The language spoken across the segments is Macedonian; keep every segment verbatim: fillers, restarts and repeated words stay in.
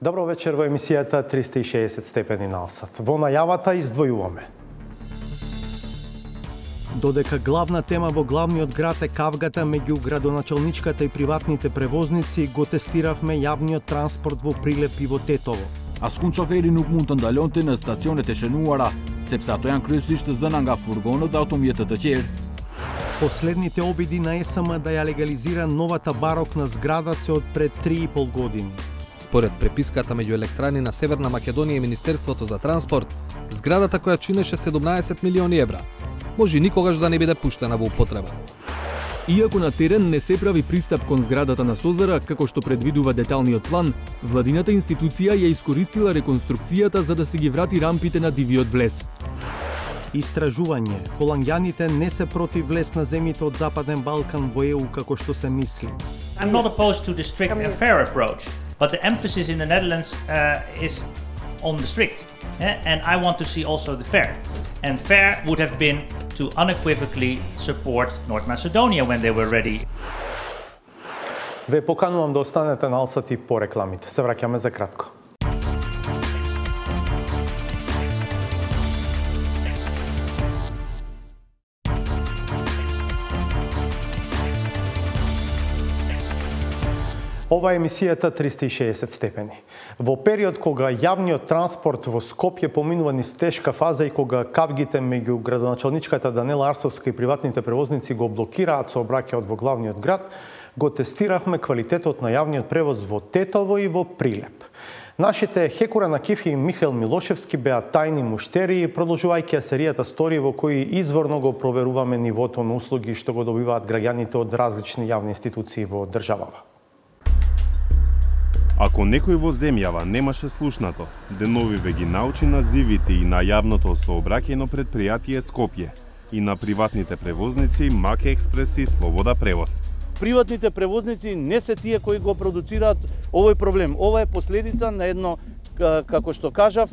Добро вечер во емисијата триста и шеесет степени на осад. Во најавата издвојуваме. Додека главна тема во главниот град е кавгата меѓу градоначалничката и приватните превозници, го тестиравме јавниот транспорт во Прилеп и во Тетово. Askun qoferi nuk mund të ndalonte në stacionet e shënuara, sepse ato janë kryesisht zëna nga furgonët dhe automjetët të tjerë. Последните обиди на ЕСМ да ја легализира новата барокна зграда се од пред три и пол години. Според преписката меѓу електрани на Северна Македонија и Министерството за транспорт, зградата која чинеше седумнаесет милиони евра, може никогаш да не биде пуштена во употреба. Иако на терен не се прави пристап кон зградата на Созара, како што предвидува деталниот план, владината институција ја искористила реконструкцијата за да се ги врати рампите на дивиот влез. Истражување. Холанѓаните не се против влез на земјите од Западен Балкан во Е У како што се мисли. I'm not opposed to the strict and fair approach, but the emphasis in the Netherlands uh, is on the strict. Yeah? And I want to see also the fair. And fair would have been to unequivocally support North Macedonia when they were ready. Ве поканувам да останете на алсати по рекламите. Се враќаме за кратко. Ова е емисијата триста и шеесет степени. Во период кога јавниот транспорт во Скопје поминува низ тешка фаза и кога кавгите меѓу градоначалничката Данела Арсовска и приватните превозници го блокираат сообраќајот во главниот град, го тестиравме квалитетот на јавниот превоз во Тетово и во Прилеп. Нашите Хекура Накифи и Михаил Милошевски беа тајни муштери, продолжувајќи серијата стори во кои изворно го проверуваме нивото на услуги што го добиваат граѓаните од различни јавни институции во државава. Ако некој во земјава немаше слушнато, деновиве ги научи називите и на јавното сообраќајно предпријатие Скопје и на приватните превозници Маке Експрес и Слобода Превоз. Приватните превозници не се тие кои го продуцираат овој проблем. Ова е последица на едно, како што кажав,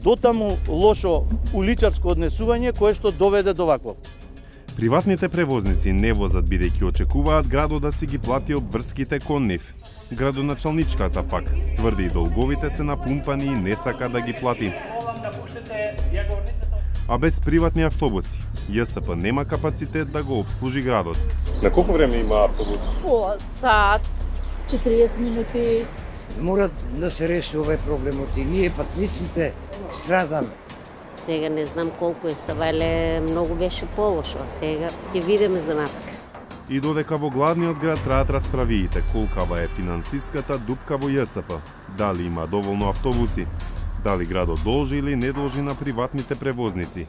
дотаму лошо уличарско однесување кое што доведе до вакво. Приватните превозници не возат бидејќи очекуваат градот да си ги плати обврските кон нив. Градоначалничката пак тврди долговите се напумпани и не сака да ги плати. А без приватни автобуси, Ја С П нема капацитет да го обслужи градот. На колку време има автобус? Пола сат, четириесет минути. Мора да се реши овој проблемот и ние патниците страдаме. Сега не знам колку е савале, многу беше полошо, а сега ќе видиме за напред. И додека во главниот град траат расправиите колкава е финансиската дупка во Ја С П, дали има доволно автобуси, дали градот должи или не должи на приватните превозници.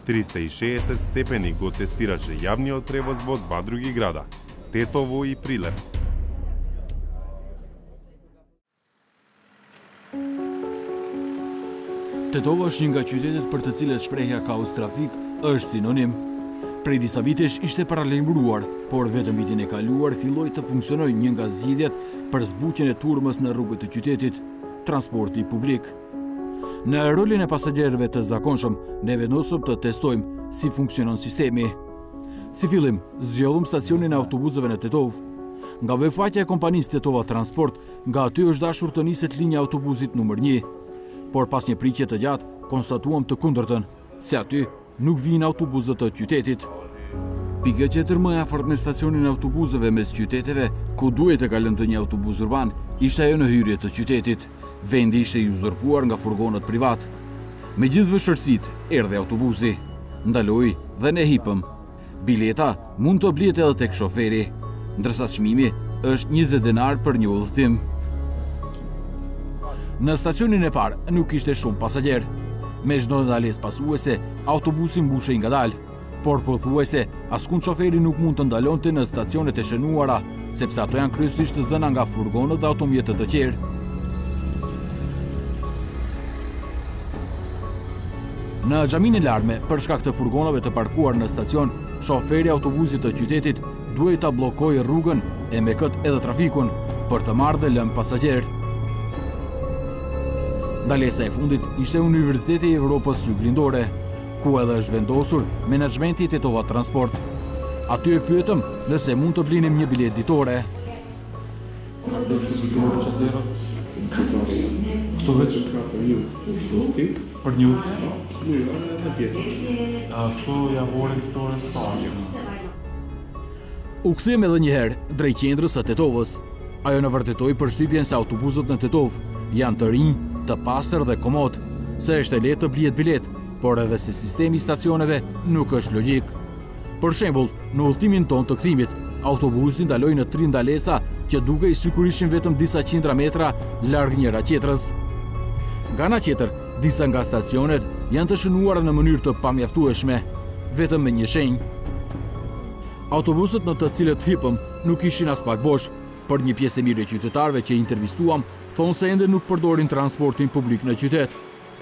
триста и шеесет степени го тестираше јавниот превоз во два други града, Тетово и Прилеп. Тетово është një nga qytetet për të cilët shprehja kaos trafik është sinonim. Prej disa vitesh ishte paralajmëruar, por vetëm vitin e kaluar filloi të funksionojë një nga zgjidhjet për zbutjen e turmës në rrugët e qytetit, transporti publik. Në rolin e pasagerëve të zakonshëm, ne vendosëm të testojmë si funksionon sistemi. Si fillim, zgjollëm stacionin e autobusëve në Tetov. Nga webfaqja e kompanisë Tetova Transport, nga aty është dashur të niset linja autobusit numër një. Por pas një pritje të gjatë, konstatuam të kundërtën, se aty nuk vinë autobusët të qytetit. Pika tjetër më e afërt me stacionin e autobusëve mes qyteteve, ku duhet të kalon të një autobus urban, ishte ajo në hyrje të qytetit. Vendi ishte i uzurpuar nga furgonët privat. Me gjithë vështirësitë, erdhi autobusi. Ndaloi dhe ne hipëm. Bileta mund të blihet edhe tek shoferi, ndërsa çmimi është njëzet denar për një udhëtim. Në stacionin e parë nuk ishte shumë pasagerë. Me çdo ndalesë pasuese, autobusi mbushej ngadalë, por pothuajse askund shoferi nuk mund të ndalonte në stacionet e shënuara, sepse ato janë kryesisht zëna nga furgonët dhe automjetët të tjerë. Në xhamin e larme, për shkak të furgonave të parkuar në stacion, shoferi autobusit të qytetit duhet ta bllokojë rrugën e me këtë edhe trafikun për të marrë dhe lënë pasagerë. Ndalesa e fundit ishte Universiteti i Evropës Juglindore, ku edhe është vendosur menaxhmenti i Tetova Transport. Aty e pyetëm nëse mund të blinim një bilet ditore. Што вече? Për një A што ja vorin këto restaurante? U kthem edhe një herë drejt qendrës së Tetovës. Ajo në vërtetoi përshtypjen se autobusët në Tetov janë të rinj, të pastër dhe komod, se është e lehtë të blihet bilet, por edhe se sistemi i stacioneve nuk është logjik. Për shembull, në udhëtimin ton të kthimit, autobusi ndaloi në tri ndalesa që dukej sikur ishin vetëm disa qindra metra larg njëra tjetrës. Nga ana tjetër, disa nga stacionet janë të shënuara në mënyrë të pamjaftueshme, vetëm me një shenjë. Autobusët në të cilët hipëm nuk ishin as pak bosh, për një pjesë e mirë e qytetarëve që intervistuam, thonë se ende nuk përdorin transportin publik në qytet,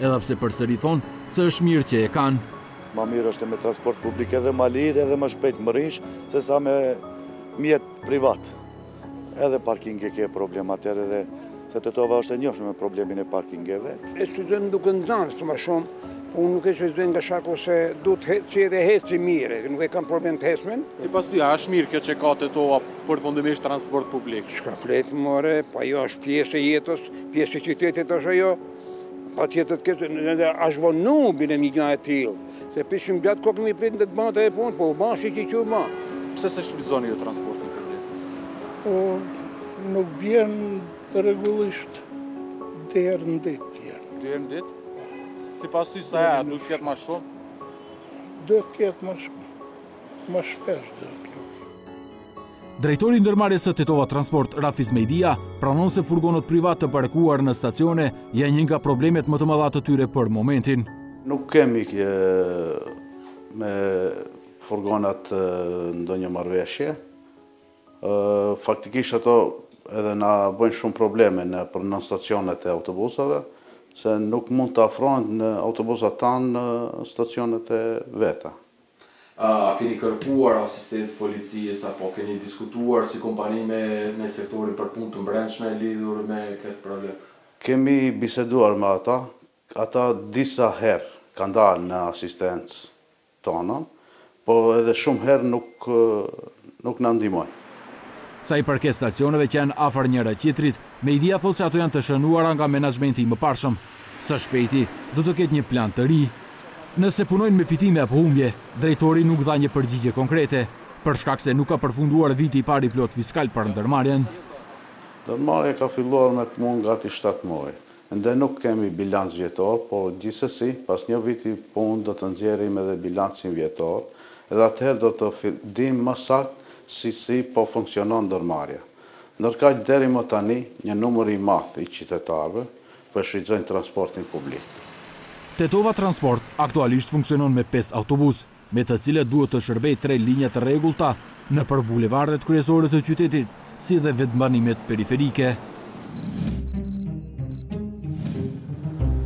edhe pse përsëri thonë se është mirë që e kanë. Ma mirë është me transport publik edhe ma lirë edhe ma shpejt më rish, se sa me mjetë privat. Edhe parking e ke problem atër edhe, se Tetova është e njohshme me problemin e parkingeve. E student duke nëzanë së ma shumë, po unë nuk e që zdojnë nga shako se du të që edhe heci mire, nuk e kam problem të hecmen. Si pas ty, a është mirë kjo që ka Tetova për fundimisht transport publik? Shka fletë more, pa jo është pjesë e jetës, pjesë e qytetit është ajo, pa tjetët këtë, edhe është vonu bile një një e tilë, se pishim gjatë ko këmi pritë në të bante e punë, po u banë shi që që u banë. Pse se shfrytëzoni ju transportin publik? Po, nuk bjen rregullisht derë në ditë bjen. Derë në ditë? Si pas ty sa e, du të ketë ma shumë? Du të ketë ma shumë, ma shpesh dhe të ketë. Drejtori ndërmarrjes së Tetova Transport, Rafiz Mejdia, pranon se furgonët privat të parkuar në stacione janë një nga problemet më të mëdha të tyre për momentin. Nuk kemi me furgonat ndonjë marrëveshje. Faktikisht ato edhe na bëjnë shumë probleme për në stacionet e autobusave, se nuk mund të afrojnë në autobusat tanë në stacionet e veta. A keni kërkuar asistent policisë, apo keni diskutuar si kompani me në sektorin për punë të brendshme lidhur me këtë problem? Kemi biseduar me ata, ata disa herë kanë dalë në asistencë tonë, po edhe shumë herë nuk, nuk në ndihmojnë. Sa i përket stacioneve që janë afër njëra tjetrit, Mejdia thotë se ato janë të shënuara nga menaxhmenti i mëparshëm. Së shpejti do të ketë një plan të ri. Nëse punojnë me fitime apo humbje, drejtori nuk dha një përgjigje konkrete, për shkak se nuk ka përfunduar viti i parë i plot fiskal për ndërmarrjen. Ndërmarrja ka filluar me punë gati shtatë muaj. Ende nuk kemi bilanc vjetor, por gjithsesi pas një viti punë do të nxjerrim edhe bilancin vjetor, edhe atëherë do të dim më saktë si si po funksionon ndërmarrja. Ndërkaq deri më tani një numër i madh i qytetarëve po shfrytëzojnë transportin publik. Tetova Transport aktualisht funksionon me pesë autobus, me të cilët duhet të shërbejë tre linja të rregullta nëpër bulevardet kryesore të qytetit, si dhe vetëmbanimet periferike.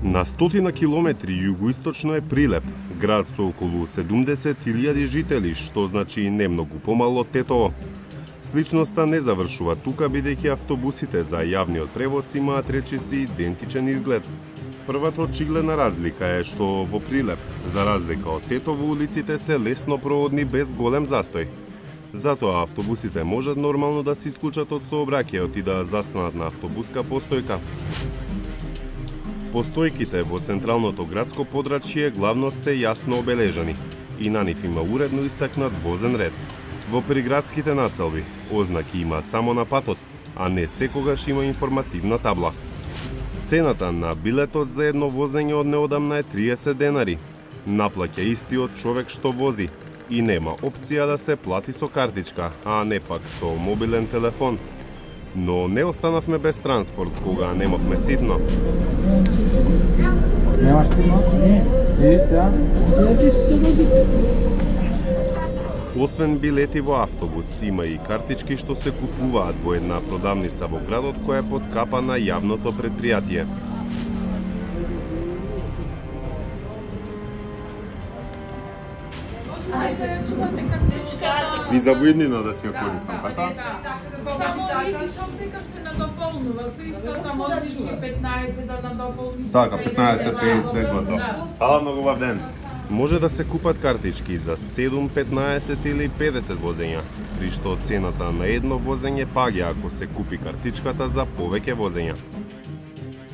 На стотина километри југоисточно е Прилеп, град со околу седумдесет илјади жители, што значи не многу помало од Тетово. Сличноста не завршува тука, бидејќи автобусите за јавниот превоз имаат речиси идентичен изглед. Првата очигледна разлика е што во Прилеп, за разлика од Тетово, улиците се лесно проводни без голем застој. Затоа автобусите можат нормално да се исклучат од сообраќајот и да застанат на автобуска постојка. Постојките во централното градско подрачје главно се јасно обележани и на нив има уредно истакнат возен ред. Во приградските населби ознаки има само на патот, а не секогаш има информативна табла. Цената на билетот за едно возење од неодамна е триесет денари. Наплаќа истиот човек што вози и нема опција да се плати со картичка, а не пак со мобилен телефон. Но не останавме без транспорт кога немавме ситно. Немаш ситно? И сега? Освен билети во автобус, има и картички што се купуваат во една продавница во градот која е под капа на јавното предпријатие. Ви за воеднина да си ја користам, така? Само видиш дека се надополнува, со истото можеш и петнаесет да надополниш. Така, петнаесет петдесет готово. Ала многу убав ден. Може да се купат картички за седум, петнаесет или педесет возења, при што цената на едно возење паѓа ако се купи картичката за повеќе возења.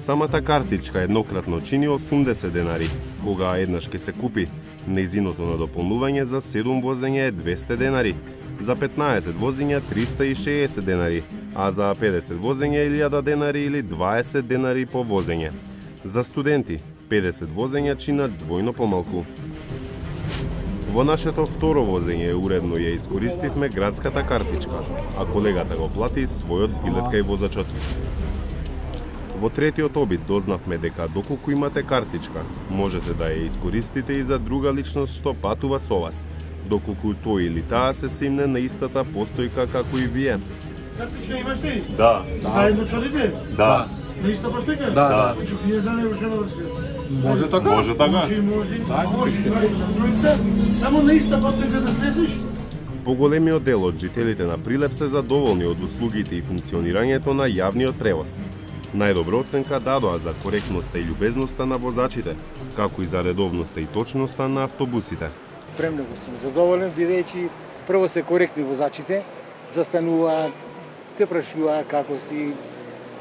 Самата картичка еднократно чини осумдесет денари, кога еднаш ќе се купи. Нејзиното надополнување за седум возења е двесте денари, за петнаесет возења триста и шеесет денари, а за педесет возења илјада денари или дваесет денари по возење. За студенти, педесет возења чинат двојно помалку. Во нашето второ возење уредно ја искористивме градската картичка, а колегата го плати својот билет кај возачот. Во третиот обид дознавме дека доколку имате картичка, можете да ја искористите и за друга личност што патува со вас, доколку тој или таа се симне на истата постојка како и вие. Картичка имаш ти? Да. Заедно чолите? Да. На иста постојка? Да, да. Значи, ние за него што врска? Може така? Може така. Може, може. Може, може. Само на иста постојка да слезеш? Поголемиот дел од жителите на Прилеп се задоволни од услугите и функционирањето на јавниот превоз. Најдобра оценка дадоа за коректноста и љубезноста на возачите, како и за редовноста и точноста на автобусите. Премногу сум задоволен, бидејќи прво се коректни возачите, застануваат, те прашуваат како си,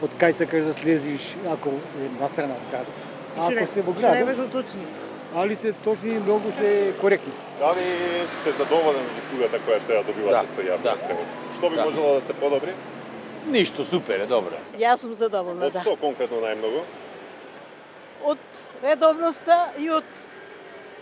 од кај сакаш да слезиш, ако е настрана од градот. Ако се во градот, не точни. Али се точни и многу се коректни. Дали сте задоволен од услугата која што ја добивате со јавниот превоз? Што би можело да се подобри? Ништо, супер е, добро. Јас сум задоволна, од да. Од што конкретно најмногу? Од редовноста и од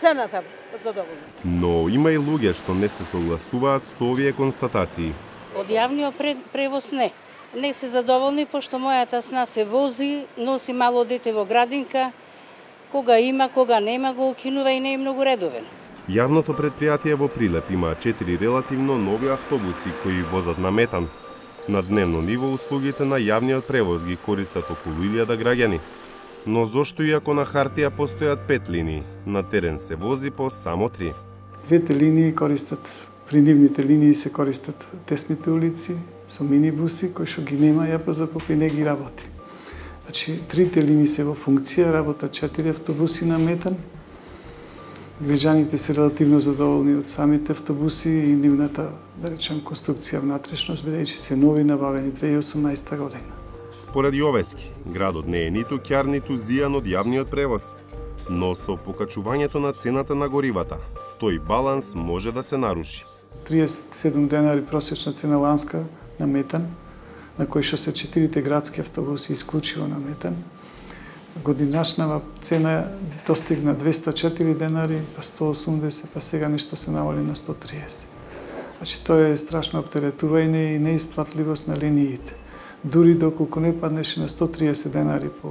цената задоволна. Но има и луѓе што не се согласуваат со овие констатации. Од јавниот превоз не. Не се задоволни, пошто мојата сна се вози, носи мало дете во градинка, кога има, кога нема, го окинува и не е многу редовен. Јавното предпријатие во Прилеп има четири релативно нови автобуси кои возат на метан. На дневно ниво услугите на јавниот превоз ги користат околу илјада граѓани. Но зошто иако на хартија постојат пет линии, на терен се вози по само три? Двете линии користат, при нивните линии се користат тесните улици со минибуси кои што ги нема ЈПЗ покрај не ги работи. Значи, трите линии се во функција, работат четири автобуси на метан. Граѓаните се релативно задоволни од самите автобуси и нивната, да речем, конструкција внатрешност, бидејќи се нови набавени две илјади и осумнаесета година. Според Јовески, градот не е ниту ќар, ниту зијан од јавниот превоз. Но со покачувањето на цената на горивата, тој баланс може да се наруши. триесет и седум денари просечна цена ланска на метан, на кој што се четирите градски автобуси исклучиво на метан. Годинашнава цена достигна двесте и четири денари, па сто и осумдесет, па сега нешто се намали на сто и триесет. Значи, тоа е страшно оптеретување и неисплатливост на линиите. Дури доколку не паднеше на сто и триесет денари по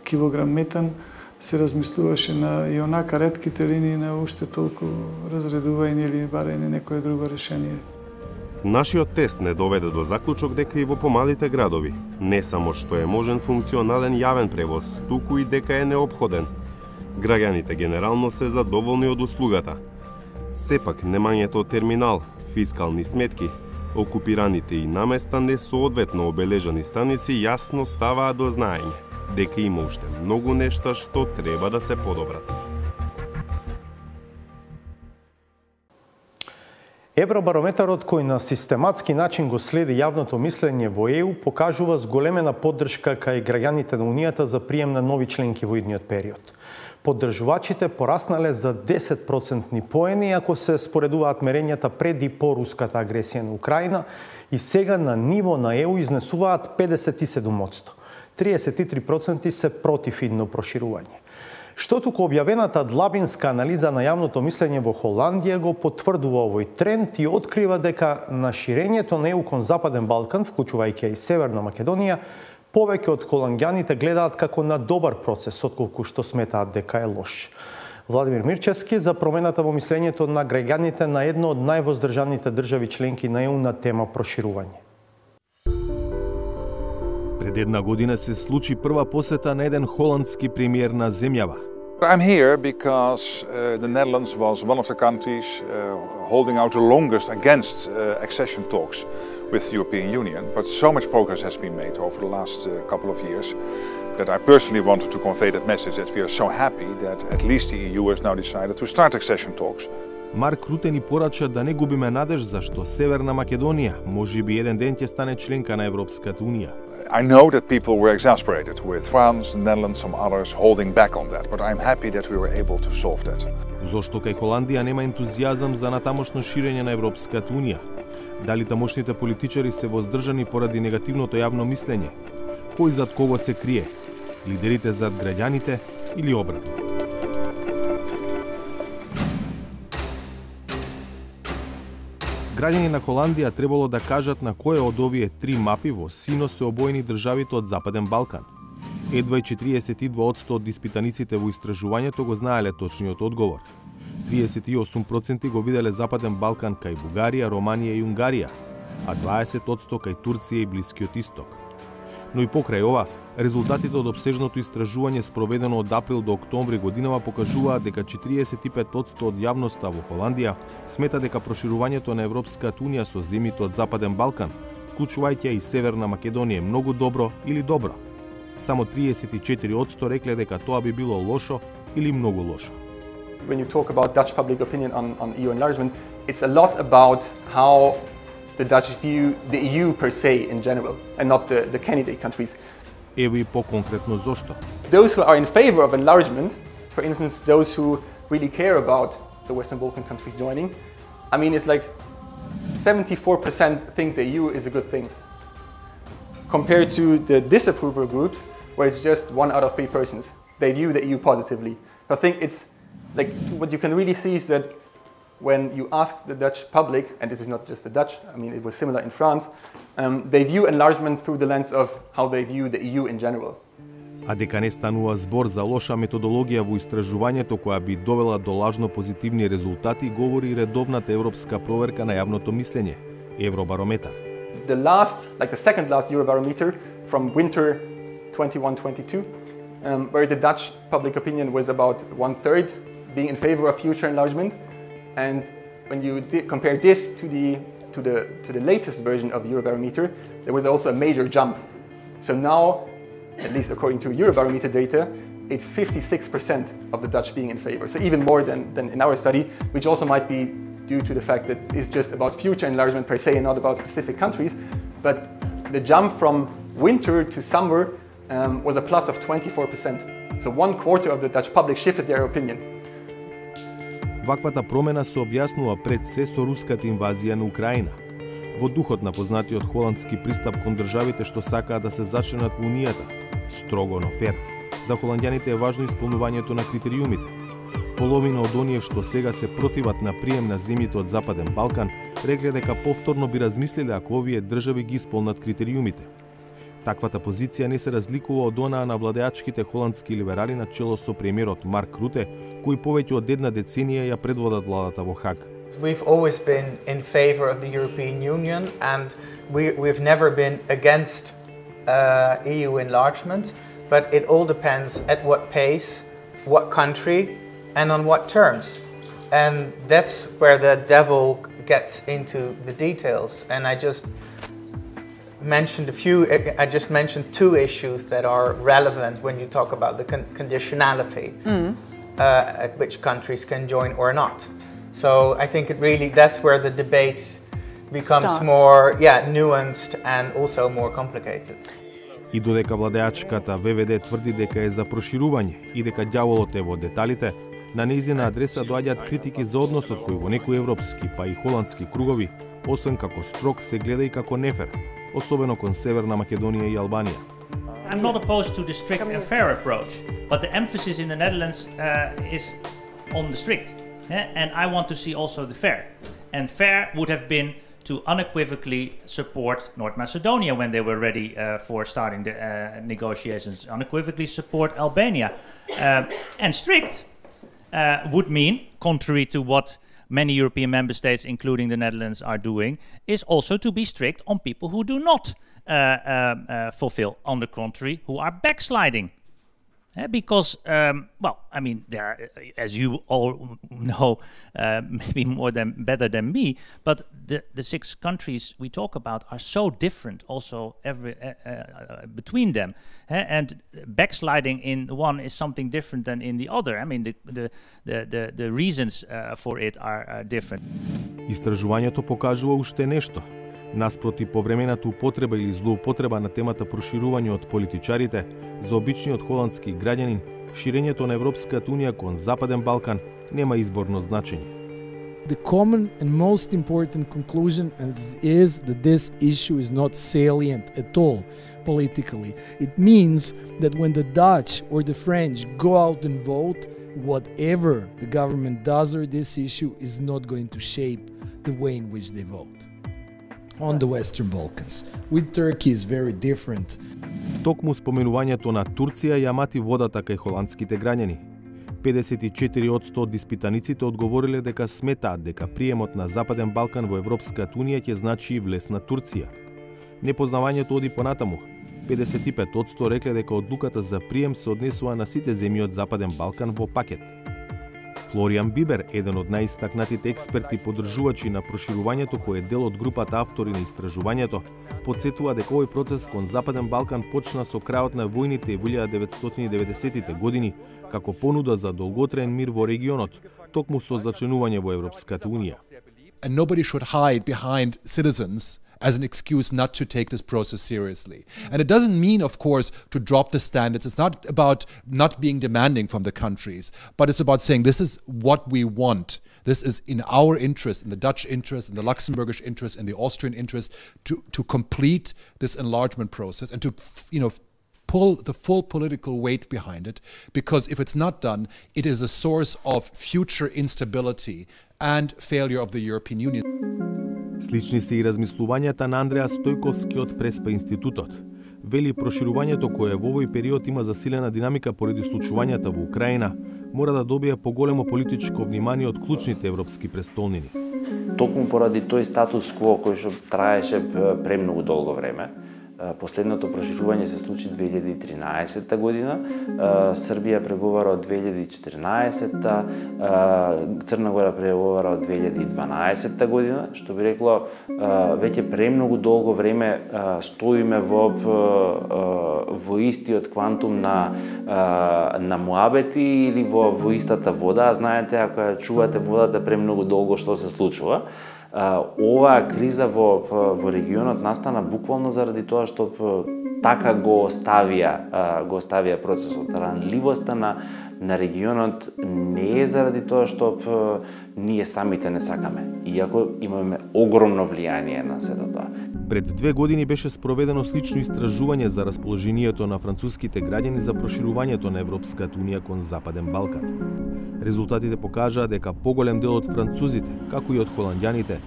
килограм метан, се размислуваше на и онака ретките линии на уште толку разредување или барање некое друго решение. Нашиот тест не доведе до заклучок дека и во помалите градови не само што е можен функционален јавен превоз, туку и дека е неопходен. Граѓаните генерално се задоволни од услугата. Сепак немањето терминал, фискални сметки, окупираните и наместа несоодветно обележани станици јасно ставаат до знаење дека има уште многу нешта што треба да се подобрат. Евробарометарот, кој на систематски начин го следи јавното мислење во Е У, покажува зголемена поддршка кај граѓаните на Унијата за прием на нови членки во идниот период. Поддржувачите пораснале за десет процентни поени ако се споредуваат мерењата пред и по руската агресија на Украина и сега на ниво на Е У изнесуваат педесет и седум одсто. триесет и три проценти се против идно проширување. Што туку објавената длабинска анализа на јавното мислење во Холандија го потврдува овој тренд и открива дека на ширењето на Е У кон Западен Балкан, вклучувајќи и Северна Македонија, повеќе од холанѓаните гледаат како на добар процес, отколку што сметаат дека е лош. Владимир Мирчевски за промената во мислењето на граѓаните на едно од највоздржаните држави членки на Е У на тема проширување. Пред една година се случи прва посета на еден холандски премиер на земјава. I'm here because uh, the Netherlands was one of the countries uh, holding out the longest against uh, accession talks with the European Union, but so much progress has been made over the last uh, couple of years that I personally wanted to convey that message that we are so happy that at least the E U has now decided to start accession talks. Марк Руте ни порача да не губиме надеж зашто Северна Македонија можеби еден ден ќе стане членка на Европската унија. I know that people were exasperated with France, the Netherlands, some others holding back on that, but I'm happy that we were able to solve that. Зошто кај Холандија нема ентузијазам за натамошно ширење на Европската унија? Дали тамошните политичари се воздржани поради негативното јавно мислење? Кој зад кого се крие? Лидерите зад граѓаните или обратно? Граѓани на Холандија требало да кажат на кој од овие три мапи во сино се обоени државите од Западен Балкан. Едва четириесет и два одсто од испитаниците во истражувањето го знаеле точниот одговор. триесет и осум проценти го виделе Западен Балкан кај Бугарија, Романија и Унгарија, а дваесет одсто кај Турција и Блискиот Исток. Но и покрај ова, резултатите од опсежното истражување спроведено од април до октомври годинава покажуваат дека четириесет и пет одсто од јавноста во Холандија смета дека проширувањето на Европската унија со земјите од Западен Балкан, вклучувајќи и Северна Македонија, е многу добро или добро. Само триесет и четири одсто рекле дека тоа би било лошо или многу лошо. When you talk about Dutch public opinion on, on E U enlargement, it's a lot about how the Dutch view the E U per se in general, and not the, the candidate countries. Еви по-конкретно зошто? Those who are in favor of enlargement, for instance, those who really care about the Western Balkan countries joining, I mean, it's like seventy-four percent think the E U is a good thing, compared to the disapproval groups, where it's just one out of three persons. They view the E U positively. I think it's like what you can really see is that when you ask the Dutch public, and this is not just the Dutch, I mean it was similar in France, um, they view enlargement through the lens of how they view the E U in general. А дека не станува збор за лоша методологија во истражувањето која би довела до лажно позитивни резултати, говори редовната европска проверка на јавното мислење, Евробарометар. The last, like the second last Eurobarometer from winter twenty-one twenty-two, um, where the Dutch public opinion was about one third being in favor of future enlargement, and when you compare this to the to the to the latest version of Eurobarometer, there was also a major jump. So now, at least according to Eurobarometer data, it's fifty-six percent of the Dutch being in favor. So even more than, than in our study, which also might be due to the fact that it's just about future enlargement per se and not about specific countries. But the jump from winter to summer um, was a plus of twenty-four percent. So one quarter of the Dutch public shifted their opinion. Ваквата промена се објаснува пред се со руската инвазија на Украина. Во духот на познатиот холандски пристап кон државите што сакаат да се зачленат во Унијата, строго но фер. За холандјаните е важно исполнувањето на критериумите. Половина од оние што сега се противат на прием на земјите од Западен Балкан, рекле дека повторно би размислиле ако овие држави ги исполнат критериумите. Таквата позиција не се разликува од онаа на владеачките холандски либерали на чело со премиерот Марк Руте, кои повеќе од една деценија ја предводат владата во Хаг. We've always been in favor of the European Union, and we, we've never been against uh, E U enlargement, but it all depends at what pace, what country, and on what terms. And that's where the devil gets into the details. And I just mentioned a few, I just mentioned two issues that are relevant when you talk about the con conditionality, mm. uh, at which countries can join or not. So I think it really, that's where the debate becomes Starts. more yeah, nuanced and also more complicated. И додека владеачката В В Д тврди дека е за проширување и дека ѓаволот е во деталите, на нејзина адреса доаѓаат критики за односот кој во некои европски, па и холандски кругови, освен како строг, се гледа и како нефер, особено кон Северна Македонија и Албанија. I'm not opposed to the strict and fair approach, but the emphasis in the Netherlands uh, is on the strict. Yeah? And I want to see also the fair. And fair would have been to unequivocally support North Macedonia when they were ready uh, for starting the uh, negotiations, unequivocally support Albania. Uh, and strict uh, would mean, contrary to what many European member states, including the Netherlands, are doing, is also to be strict on people who do not uh, uh, uh, fulfill, on the contrary, who are backsliding. Uh, because, um, well, I mean, there are, as you all know, uh, maybe more than better than me, but the, the six countries we talk about are so different also every, uh, uh, between them. Uh, and backsliding in one is something different than in the other. I mean, the, the, the, the, the reasons uh, for it are uh, different. Истражувањето покажува уште нешто. Наспроти повремената употреба или злоупотреба на темата проширување од политичарите, за обичниот холандски граѓанин, ширењето на Европската унија кон Западен Балкан нема изборно значење. The common and most important conclusion is, is that this issue is not salient at all politically. It means that when the Dutch or the French go out and vote, whatever the government does on this issue is not going to shape the way in which they vote. On the Western Balkans. With Turkey is very different. Токму споменувањето на Турција ја мати водата кај холандските граѓани. педесет и четири одсто од испитаниците одговориле дека сметаат дека приемот на Западен Балкан во Европската унија ќе значи и влез на Турција. Непознавањето оди понатаму. педесет и пет одсто рекле дека одлуката за прием се однесува на сите земји од Западен Балкан во пакет. Флориан Бибер, еден од најистакнатите експерти поддржувачи на проширувањето кој е дел од групата автори на истражувањето, потсетува дека овој процес кон Западен Балкан почна со крајот на војните во илјада деветстотини и деветдесетите години, како понуда за долготраен мир во регионот, токму со зачленување во Европската унија. And nobody should hide behind citizens as an excuse not to take this process seriously. And it doesn't mean, of course, to drop the standards. It's not about not being demanding from the countries, but it's about saying this is what we want. This is in our interest, in the Dutch interest, in the Luxembourgish interest, in the Austrian interest, to, to complete this enlargement process and to, you know, pull the full political weight behind it, because if it's not done, it is a source of future instability and failure of the European Union. Слични се и размислувањата на Андреа Стојковски од Преспа институтот. Вели проширувањето кое во овој период има засилена динамика поради случувањата во Украина, мора да добие поголемо политичко внимание од клучните европски престолнини. Токму поради тој статус кво кој што траеше премногу долго време, последното проширување се случи две илјади и тринаесетта година, Србија преговара од две илјади и четиринаесетта, Црна Гора преговара од две илјади и дванаесетта година, што би рекло веќе премногу долго време стоиме во во истиот квантум на на муабети или во во истата вода, а знаете ако ја чувате водата премногу долго што се случува. Uh, оваа криза во, во регионот настана буквално заради тоа што така го оставија, uh, го оставија процесот. Ранливоста на, на регионот не е заради тоа што uh, ние самите не сакаме, иако имаме огромно влијание на сето тоа. Пред две години беше спроведено слично истражување за расположението на француските граѓани за проширувањето на Европската унија кон Западен Балкан. Резултатите покажаа дека поголем дел од французите, како и од холандјаните,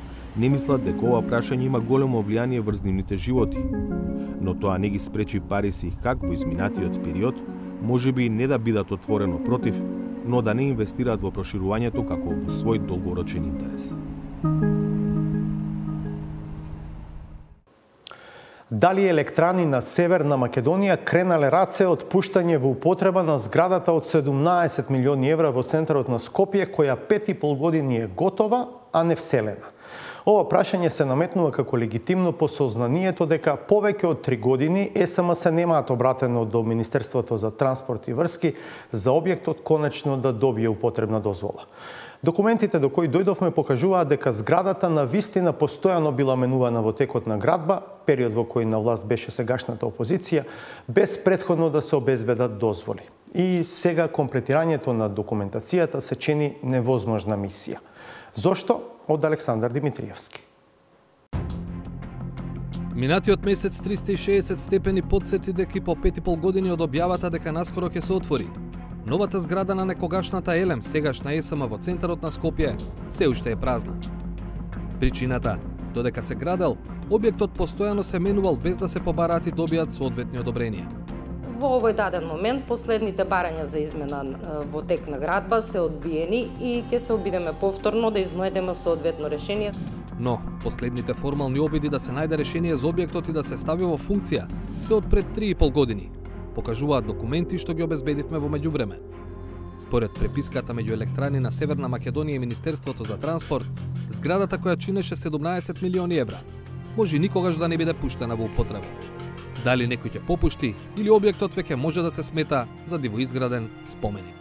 не мислат дека ова прашање има големо влијание врз нивните животи. Но тоа не ги спречи Парис и Хаг во изминатиот период, можеби не да бидат отворено против, но да не инвестираат во проширувањето како во свој долгорочен интерес. Дали електрани на Северна Македонија кренале раце од пуштање во употреба на зградата од седумнаесет милиони евра во центарот на Скопје, која пет и пол години е готова, а не вселена? Ова прашање се наметнува како легитимно по сознанието дека повеќе од три години ЕСМС немаат обратено до Министерството за транспорт и врски за објектот конечно да добие употребна дозвола. Документите до кои дојдовме покажуваат дека зградата на вистина постојано била менувана во текот на градба, период во кој на власт беше сегашната опозиција, без претходно да се обезбедат дозволи. И сега комплетирањето на документацијата се чини невозможна мисија. Зошто? Од Александар Димитриевски. Минатиот месец триста и шеесет степени потсети дека по пет и пол години од објавата дека наскоро ќе се отвори. Новата зграда на некогашната Елем, сегашна ЕСМ во центарот на Скопје, се уште е празна. Причината, додека се градел, објектот постојано се менувал без да се побараат и добијат соодветни одобренија. Во овој даден момент, последните барања за измена во тек на градба се одбиени и ќе се обидеме повторно да изнајдеме соодветно решение. Но, последните формални обиди да се најде решение за објектот и да се стави во функција се од пред три и пол години. Покажуваат документи што ги обезбедивме во меѓувреме. Според преписката меѓу Електрани на Северна Македонија и Министерството за транспорт, зградата која чинеше седумнаесет милиони евра може никогаш да не биде пуштена во употреба. Дали некој ќе попушти или објектот веќе може да се смета за дивоизграден споменик.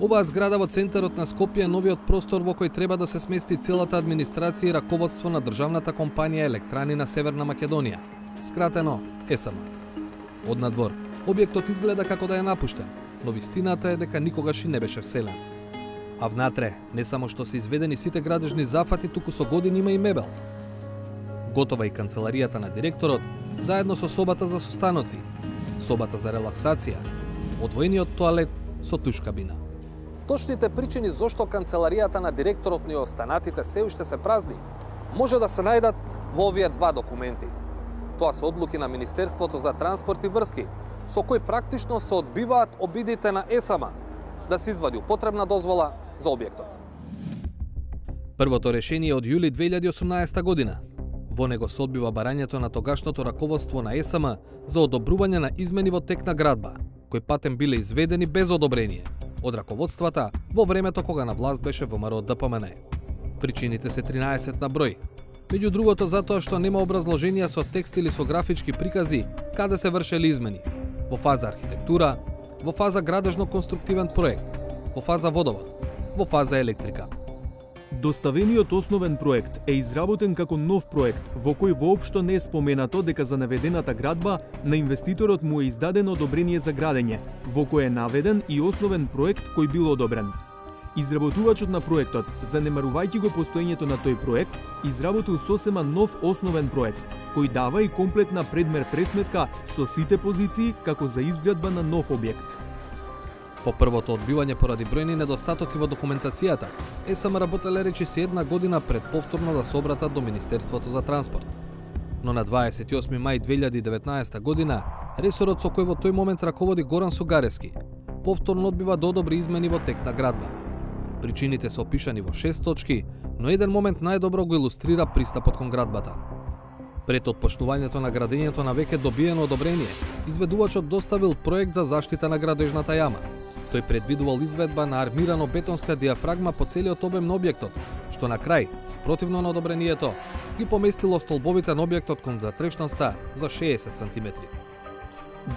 Оваа зграда во центарот на Скопје е новиот простор во кој треба да се смести целата администрација и раководство на државната компанија Електрани на Северна Македонија, скратено Е С М. Однадвор, објектот изгледа како да е напуштен, но вистината е дека никогаш и не беше вселен. А внатре, не само што се изведени сите градежни зафати, туку со години има и мебел. Готова и канцеларијата на директорот, заедно со собата за состаноци, собата за релаксација, одвоениот тоалет со туш кабина. Точните причини зошто канцеларијата на директорот и останатите се уште се празни, може да се најдат во овие два документи. Тоа се одлуки на Министерството за транспорт и врски, со кои практично се одбиваат обидите на Е С М да се извади потребна дозвола за објектот. Првото решение од јули две илјади и осумнаесета година. Во него се одбива барањето на тогашното раководство на Е С М за одобрување на измени во тек на градба, кои патем биле изведени без одобрение од раководствата во времето кога на власт беше Во М Р Д П М Н. Причините се тринаесет на број. Меѓу другото затоа што нема образложенија со текст или со графички прикази каде се вршели измени. Во фаза архитектура, во фаза градежно-конструктивен проект, во фаза водовод, во фаза електрика. Доставениот основен проект е изработен како нов проект во кој воопшто не е споменато дека за наведената градба на инвеститорот му е издадено одобрение за градење, во кој е наведен и основен проект кој бил одобрен. Изработувачот на проектот, занемарувајќи го постоењето на тој проект, изработил сосема нов основен проект, кој дава и комплетна предмер пресметка со сите позиции како за изградба на нов објект. По првото одбивање поради бројни недостатоци во документацијата, Е С М работеле речиси една година пред повторно да се обратат до Министерството за транспорт. Но на дваесет и осми мај две илјади и деветнаесета година, ресорот со кој во тој момент раководи Горан Сугарески, повторно одбива да одобри измени во тек на градба. Причините се опишани во шест точки, но еден момент најдобро го илустрира пристапот кон градбата. Пред отпочнувањето на градењето на веќе добиено одобрение, изведувачот доставил проект за заштита на градежната јама. Тој предвидувал изведба на армирано-бетонска диафрагма по целиот обем на објектот, што на крај, спротивно на одобрението, ги поместило столбовите на објектот кон затрешноста за шеесет сантиметри.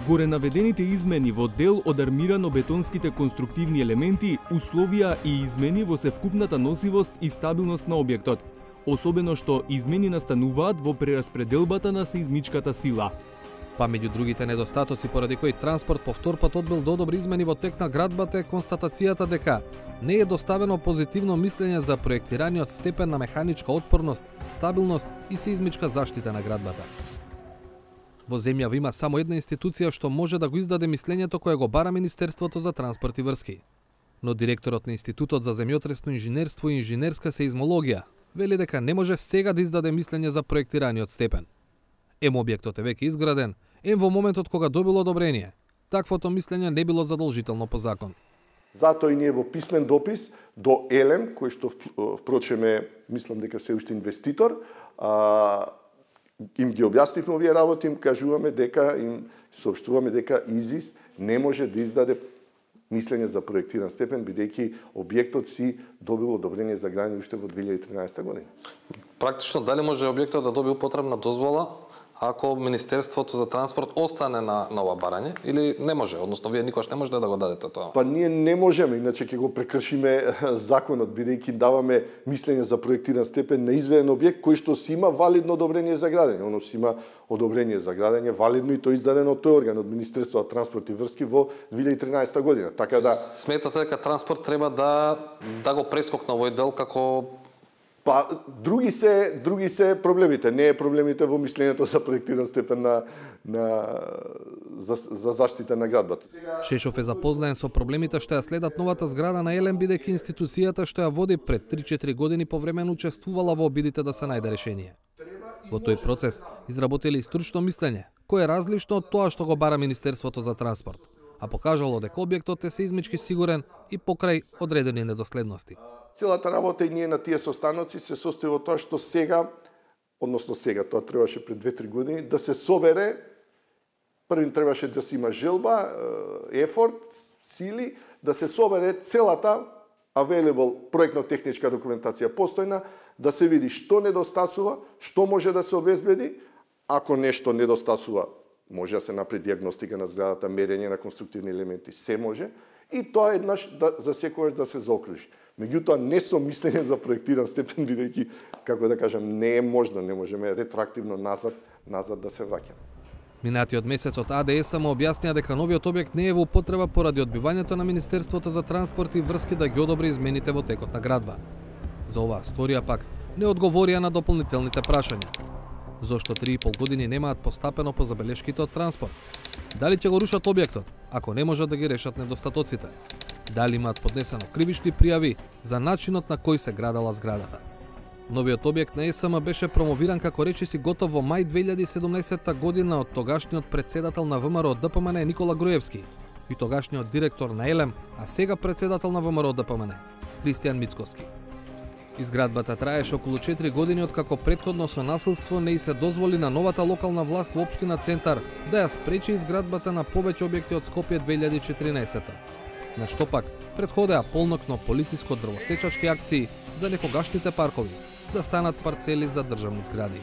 Горе наведените измени во дел од армирано-бетонските конструктивни елементи условија и измени во севкупната носивост и стабилност на објектот, особено што измени настануваат во прераспределбата на сеизмичката сила. Па меѓу другите недостатоци поради кои транспорт по втор пат одбил да одобри измени во тек на градбата е констатацијата дека не е доставено позитивно мислење за проектираниот степен на механичка отпорност, стабилност и сеизмичка заштита на градбата. Во земјава има само една институција што може да го издаде мислењето кое го бара Министерството за транспорт и врски. Но директорот на Институтот за земјотресно инженерство и инженерска сеизмологија вели дека не може сега да издаде мислење за проектираниот степен. Ем објектот е веќе изграден, ем во моментот кога добило одобрение. Таквото мислење не било задолжително по закон. Затоа и ние во писмен допис до Елем, кој што впрочем е, мислам дека се уште инвеститор, а, им ги објаснивме овие работи, им кажуваме дека, им соопштуваме дека ИЗИС не може да издаде мислење за проектиран степен, бидејќи објектот си добил одобрение за градење уште во две илјади и тринаесета година. Практично, дали може објектот да доби потребна дозвола ако Министерството за транспорт остане на, на ова барање или не може, односно вие никош не можете да го дадете тоа? Па ние не можеме, иначе ќе го прекршиме законот, бидејќи даваме мислење за проектиран степен на изведен објект кој што си има валидно одобрение за градење. Оно си има одобрение за градење, валидно и тоа издадено од тој орган, од Министерството за транспорт и врски во две илјади и тринаесета година. Така да сметате дека транспорт треба да да го прескокне овој дел како Па, други се, други се проблемите. Не е проблемите во мислењето за проектиран степен на, на, за, за заштита на градбата. Шешов е запознаен со проблемите што ја следат новата зграда на Елем, бидејќи институцијата што ја води пред три-четири години повремено учествувала во обидите да се најде решение. Во тој процес изработили стручно мислење, кое е различно од тоа што го бара Министерството за транспорт, а покажало дека објектот е сеизмички сигурен и покрај одредени недоследности. Целата работа и ние на тие состаноци се состои во тоа што сега односно сега, тоа требаше пред две-три години, да се собере, првин требаше да се има желба, ефорт, сили, да се собере целата available проектно-техничка документација постојна, да се види што недостасува, што може да се обезбеди, ако нешто недостасува, може да се направи диагностика на зградата, мерење на конструктивни елементи, се може, и тоа еднаш да, за секојаш да се заокружи. Меѓутоа, не со мислење за проектиран степен, бидејќи, како да кажам, не е можно, не можеме ретроактивно назад, назад да се враќаме. Минатиот месец од А Д С му објаснија дека новиот објект не е во употреба поради одбивањето на Министерството за транспорт и врски да ги одобри измените во текот на градба. За оваа сторија пак не одговорија на дополнителните прашања. Зошто три и пол години немаат постапено по забелешките од транспорт? Дали ќе го рушат објектот, ако не можат да ги решат недостатоците? Дали имаат поднесено кривични пријави за начинот на кој се градела зградата? Новиот објект на Е С М беше промовиран како речиси готов во мај две илјади и седумнаесетта година од тогашниот председател на В М Р Д П М Н Никола Груевски и тогашниот директор на Елем, а сега председател на В М Р Д П М Н Кристијан Мицковски. Изградбата траеше околу четири години откако претходно со насилство не и се дозволи на новата локална власт во општина Центар да ја спречи изградбата на повеќе објекти од Скопје две илјади и четиринаесетта. На што пак претходеа полноќно полициско дрвосечачки акции за некогашните паркови да станат парцели за државни згради.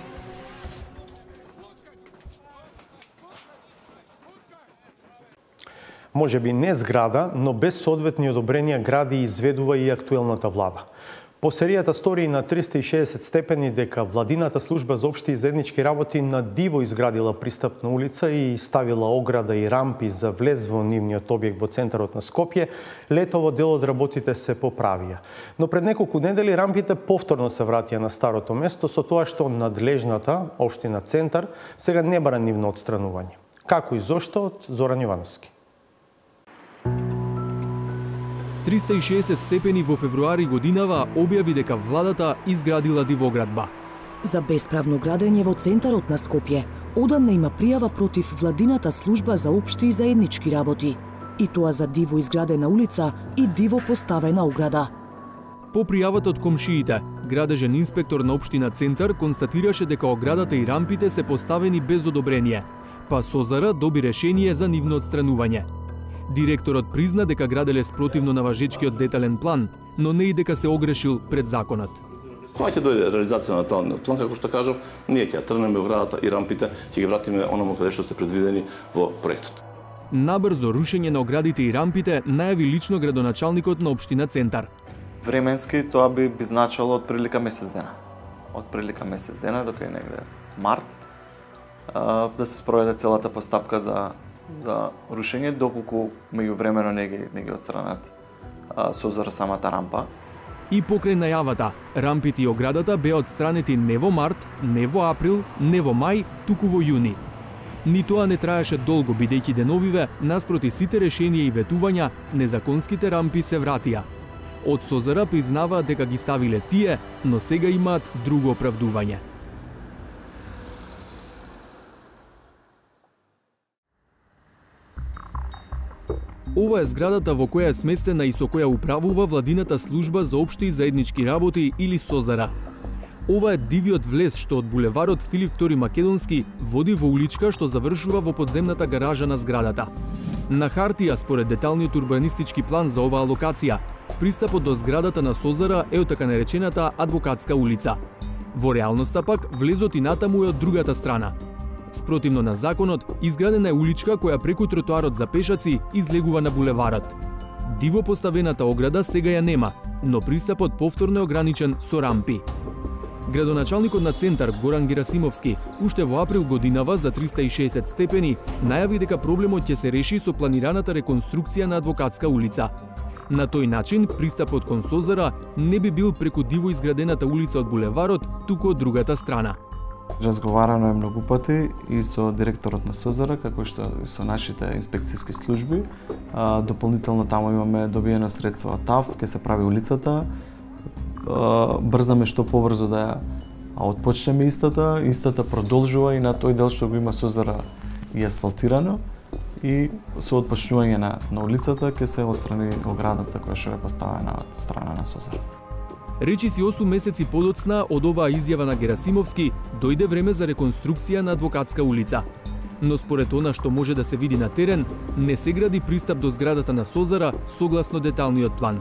Може би не зграда, но без соодветни одобренија гради изведува и актуелната влада. По серијата стории на триста и шеесет степени дека владината служба за општи и заеднички работи на диво изградила пристапна улица и ставила ограда и рампи за влез во нивниот објект во центарот на Скопје, летово дел од работите се поправија. Но пред неколку недели рампите повторно се вратија на старото место со тоа што надлежната општина Центар сега не бара нивно отстранување. Како и зошто од Зоран Јовановски. триста и шеесет степени во февруари годинава објави дека владата изградила дивоградба. За бесправно градење во центарот на Скопје одамна има пријава против владината служба за општи и заеднички работи. И тоа за диво изградена улица и диво поставена ограда. По пријавата од комшиите, градежен инспектор на општина Центар констатираше дека оградата и рампите се поставени без одобрение, па Созара доби решение за нивно отстранување. Директорот призна дека граделе спротивно на важечкиот детален план, но не и дека се огрешил пред законот. Кога ќе дојде реализација на тоа план, како што кажав, ние ќе тргнеме оградата и рампите, ќе ги вратиме оному каде што се предвидени во проектот. Набрзо рушење на оградите и рампите најави лично градоначалникот на општина Центар. Временски тоа би би значило од прилика месец дена. Од прилика месец дена до кај негде март да се спроведе целата постапка за за рушење, доколку меѓувремено не ги не ги отстранат Созара самата рампа. И покрај најавата, рампите и оградата беа отстранети не во март, не во април, не во мај, туку во јуни. Ни тоа не траеше долго, бидејќи деновиве, наспроти сите решенија и ветувања, незаконските рампи се вратија. Од Созара признава дека ги ставиле тие, но сега имаат друго оправдување. Ова е зградата во која е сместена и со која управува владината служба за општи и заеднички работи или Созара. Ова е дивиот влез што од булеварот Филип втори Македонски води во уличка што завршува во подземната гаража на зградата. На хартија, според деталниот урбанистички план за оваа локација, пристапот до зградата на Созара е од така наречената Адвокатска улица. Во реалноста пак, влезот и натаму е од другата страна. Спротивно на законот, изградена е уличка која преку тротоарот за пешаци излегува на булеварот. Диво поставената ограда сега ја нема, но пристапот повторно е ограничен со рампи. Градоначалникот на Центар Горан Герасимовски уште во април годинава за триста и шеесет степени најави дека проблемот ќе се реши со планираната реконструкција на Адвокатска улица. На тој начин, пристапот кон Созара не би бил преку диво изградената улица од булеварот, туку од другата страна. Разговарано е многу пати и со директорот на Созара, како што и со нашите инспекцијски служби. Дополнително таму имаме добиено средства од ТАФ, ќе се прави улицата. Брзаме што побрзо да ја отпочнеме истата. Истата продолжува и на тој дел што го има Созара и асфалтирано. И со отпочнување на, на улицата ќе се отстрани оградата која што е поставена од страна на Созара. Речиси осум месеци подоцна од оваа изјава на Герасимовски, дојде време за реконструкција на Адвокатска улица. Но според она што може да се види на терен, не се гради пристап до зградата на Созара согласно деталниот план.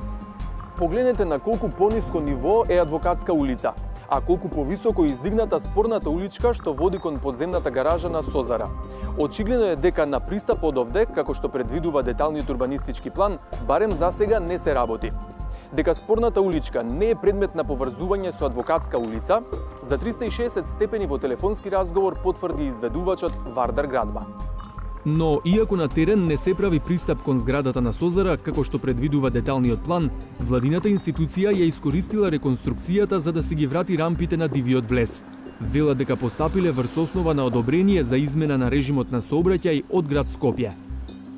Погледнете на колку пониско ниво е Адвокатска улица, а колку повисоко издигната спорната уличка што води кон подземната гаража на Созара. Очигледно е дека на пристапот овде, како што предвидува деталниот урбанистички план, барем засега не се работи. Дека спорната уличка не е предмет на поврзување со Адвокатска улица, за триста и шеесет степени во телефонски разговор потврди изведувачот Вардар Градба. Но, иако на терен не се прави пристап кон зградата на Созара, како што предвидува деталниот план, владината институција ја искористила реконструкцијата за да си ги врати рампите на дивиот влез. Вела дека постапиле врз основа на одобрение за измена на режимот на сообраќај од град Скопје.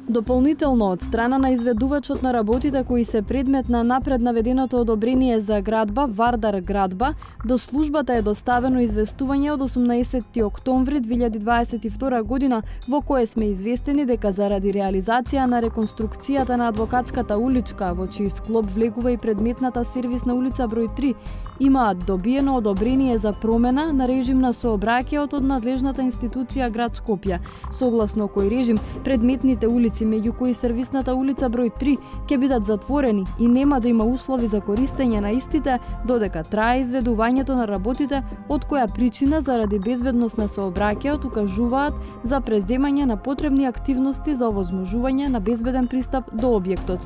Дополнително од страна на изведувачот на работите кои се предмет на напред наведеното одобрение за градба Вардар Градба, до службата е доставено известување од осумнаесетти октомври две илјади дваесет и втора година, во кое сме известени дека заради реализација на реконструкцијата на Адвокатската уличка, во чиј склоп влегува и предметната сервисна улица број три, имаат добиено одобрение за промена на режим на сообраќајот од надлежната институција град Скопје, согласно кој режим предметните улици меѓу кои сервисната улица број три ќе бидат затворени и нема да има услови за користење на истите додека трае изведувањето на работите, од која причина заради безбедност на сообраќајот укажуваат за преземање на потребни активности за овозможување на безбеден пристап до објектот.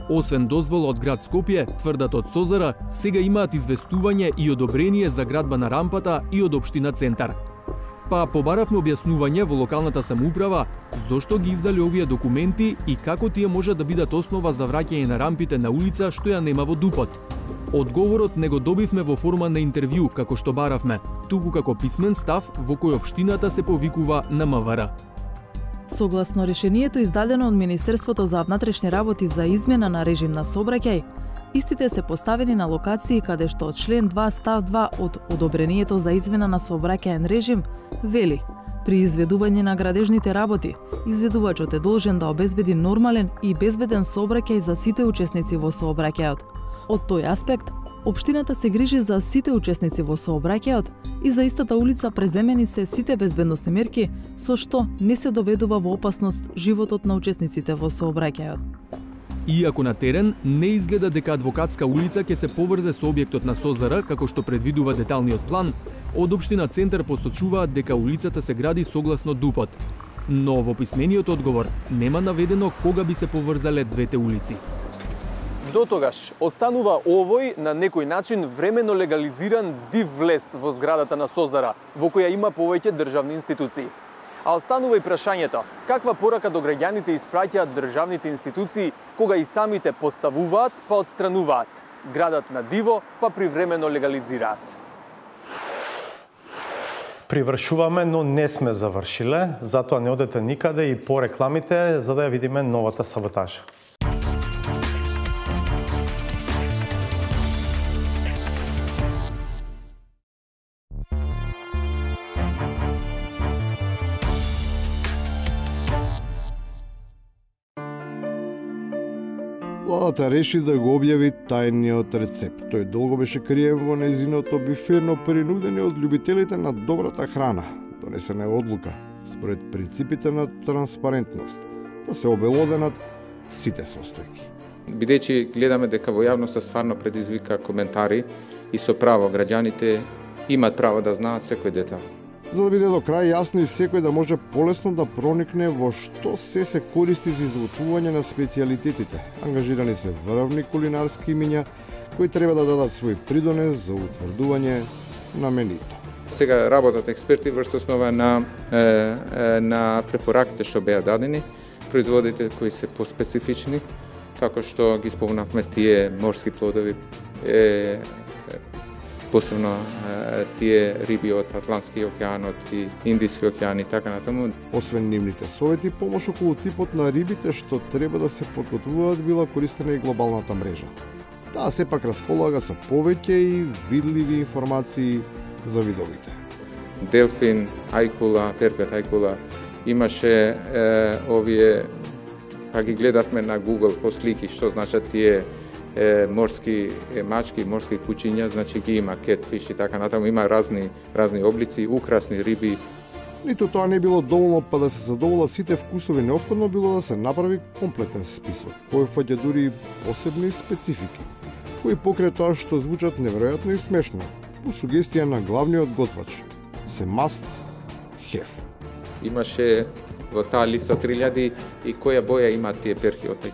Освен дозвола од град Скопје, тврдат од Созара, сега имаат известување и одобрение за градба на рампата и од општина Центар. Па побаравме објаснување во локалната самоуправа зошто ги издале овие документи и како тие може да бидат основа за враќање на рампите на улица што ја нема во ДУП-от. Одговорот не го добивме во форма на интервју, како што баравме, туку како писмен став во кој општината се повикува на МВР. Согласно решението издадено од Министерството за внатрешни работи за измена на режим на сообраќај, истите се поставени на локации каде што од член два став два од одобрението за измена на сообраќаен режим вели: при изведување на градежните работи, изведувачот е должен да обезбеди нормален и безбеден сообраќај за сите учесници во сообраќајот. Од тој аспект, општината се грижи за сите учесници во сообраќајот и за истата улица преземени се сите безбедносни мерки, со што не се доведува во опасност животот на учесниците во сообраќајот. Иако на терен не изгледа дека Адвокатска улица ќе се поврзе со објектот на Созара, како што предвидува деталниот план, од општина Центар посочуваат дека улицата се гради согласно ДУП-от. Но во писмениот одговор нема наведено кога би се поврзале двете улици. До тогаш останува овој на некој начин временно легализиран див влез во зградата на Созара, во која има повеќе државни институции. А останува и прашањето, каква порака до граѓаните испраќаат државните институции кога и самите поставуваат па отстрануваат, градат на диво па привремено легализираат. Привршуваме, но не сме завршиле, затоа не одете никаде и по рекламите за да ја видиме новата саботажа. Владата реши да го објави тајниот рецепт. Тој долго беше криен во нејзиното биферно принудење од љубителите на добрата храна. Донесена е одлука, според принципите на транспарентност, да се обелоденат сите состојки. Бидејќи гледаме дека во јавноста стварно предизвика коментари и со право граѓаните имаат право да знаат секој детал. За да биде до крај јасно и секој да може полесно да проникне во што се се користи за излучување на специјалитетите. Ангажирани се врвни кулинарски имиња кои треба да дадат свој придонес за утврдување на менито. Сега работат експерти врз основа на е, е, на препораките што беа дадени, производите кои се поспецифични, како што ги спомнавме тие морски плодови, е, посебно е, тие риби од Атлантски океанот и Индиски океан и така натаму. Освен нивните совети, помош околу типот на рибите што треба да се подготвуваат била користена и глобалната мрежа. Таа сепак располага со повеќе и видливи информации за видовите. Делфин, ајкула, перпет ајкула, имаше е, овие, па ги гледавме на Google по слики што значат тие е, морски е, мачки, морски кучиња, значи ги има кетфиш и така натаму, има разни разни облици, украсни риби. Ниту тоа не било доволно па да се задоволат сите вкусови, неопходно било да се направи комплетен список, кој фаќа дури посебни специфики, кои покрај тоа што звучат неверојатно и смешно, по сугестија на главниот готвач, се must have. Имаше во таа листа три илјади и која боја има тие перки од тај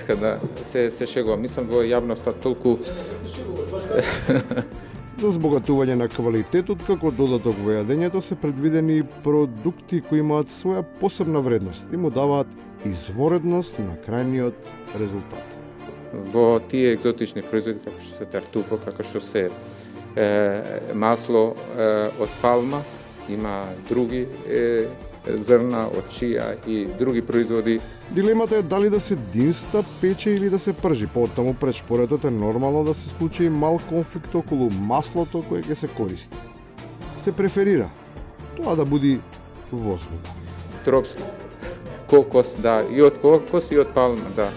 Така да се се шегувам, мислам во јавноста толку За збогатување на квалитетот како додаток во јадењето се предвидени продукти кои имаат своја посебна вредност и му даваат изворедност на крајниот резултат. Во тие екзотични производи како што се тартуфо, како што се е, масло е, од палма, има други е, зрна од чија и други производи. Дилемата е дали да се динста, пече или да се пржи. Потаму пред шпоретот е нормално да се случи мал конфликт околу маслото кое ќе се користи. Се преферира тоа да буди возбуда. Тропски, кокос, да, и од кокос и од палма, да.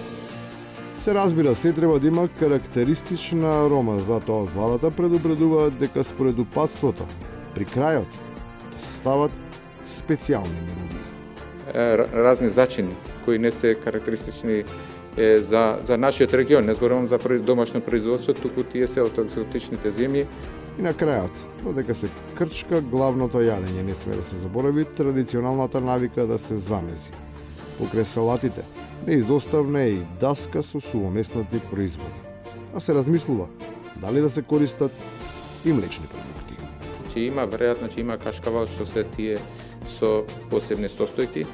Се разбира, се треба да има карактеристична арома, затоа владата предупредува дека според упатството, при крајот, да се стават специјални мелодии. Разни зачини кои не се карактеристични е, за, за нашиот регион, не зборувам за домашно производство, туку тие се од екзотичните земји. И на крајот, додека се крчка главното јадење, не сме да се заборави традиционалната навика да се замези. Покрај салатите, неизоставна е и даска со сувомеснати производи. А се размислува дали да се користат и млечни продукти. Че има, веројатно, че има кашкавал што се тие со посебни состојки.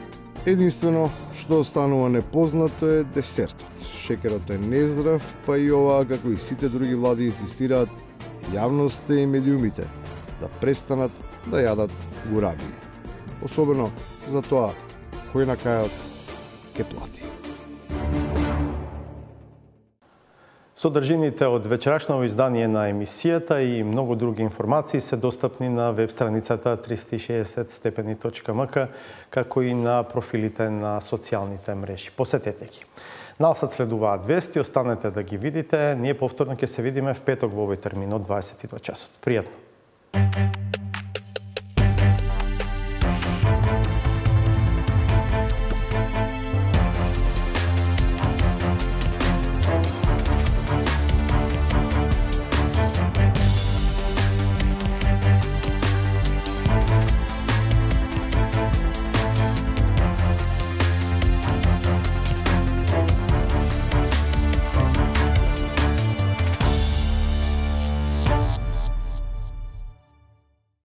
Единствено што останува непознато е десертот. Шекерот е нездрав, па и ова, како и сите други влади, инсистираат јавноста и медиумите да престанат да јадат гурабии. Особено за тоа кој на крајот ке плати. Содржините од вечерашното издание на емисијата и многу други информации се достапни на веб страницата триста и шеесет степени точка ем ка, како и на профилите на социјалните мрежи. Посетете ги. Насад следуваат вести, останете да ги видите. Ние повторно ќе се видиме в петок во овој термин од дваесет и два часот. Пријатно!